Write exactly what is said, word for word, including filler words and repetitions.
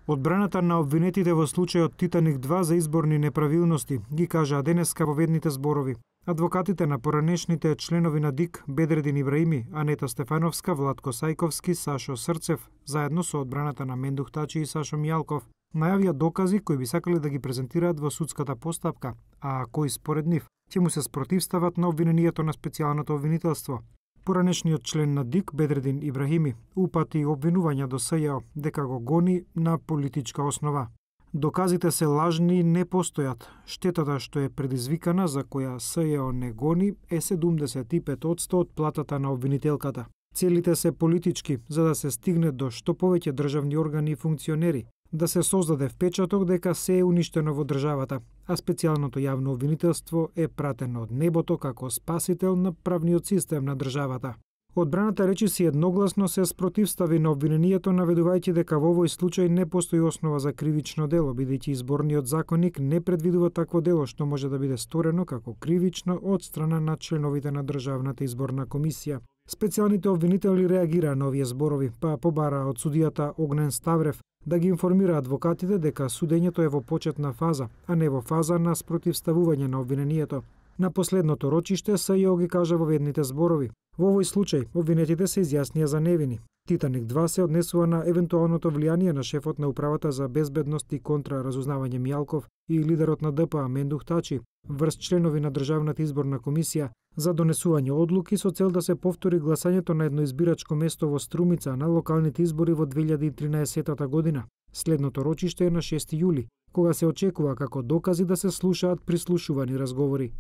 Одбраната на обвинетите во случајот Титаник два за изборни неправилности ги кажаа денеска во ведните зборови. Адвокатите на поранешните членови на ДИК, Бедредин Ибраими, Анета Стефановска, Владко Сајковски, Сашо Срцев, заедно со одбраната на Мендух Тачи и Сашо Мијалков, најавија докази кои би сакале да ги презентираат во судската постапка, а кои според нив ќе му се спротивстават на обвинението на специјалното обвинителство. Поранешниот член на ДИК, Бедредин Ибрахими, упати обвинувања до СЈО дека го гони на политичка основа. Доказите се лажни и не постојат. Штетата што е предизвикана, за која СЈО не гони, е седумдесет и пет одсто од платата на обвинителката. Целите се политички, за да се стигне до што повеќе државни органи и функционери, да се создаде впечаток дека се е уништено во државата, а специјалното јавно обвинителство е пратено од небото како спасител на правниот систем на државата. Одбраната речиси едногласно се спротивстави на обвинението, наведувајќи дека во овој случај не постои основа за кривично дело, бидејќи изборниот законник не предвидува такво дело што може да биде сторено како кривично од страна на членовите на Државната изборна комисија. Специјалните обвинители реагираа на овие зборови, па побараа од судијата Огнен Ставрев да ги информира адвокатите дека судењето е во почетна фаза, а не во фаза на спротивставување на обвинението. На последното рочиште СЈО ги кажа во ведните зборови: во овој случај обвинетите се изјаснија за невини. Титаник два се однесува на евентуалното влијание на шефот на управата за безбедност и контраразузнавање Мијалков и лидерот на ДПА Мендух Тачи врз членови на Државната изборна комисија за донесување одлуки со цел да се повтори гласањето на едно избирачко место во Струмица на локалните избори во две илјади и тринаесета година. Следното рочиште е на шести јули, кога се очекува како докази да се слушаат прислушувани разговори.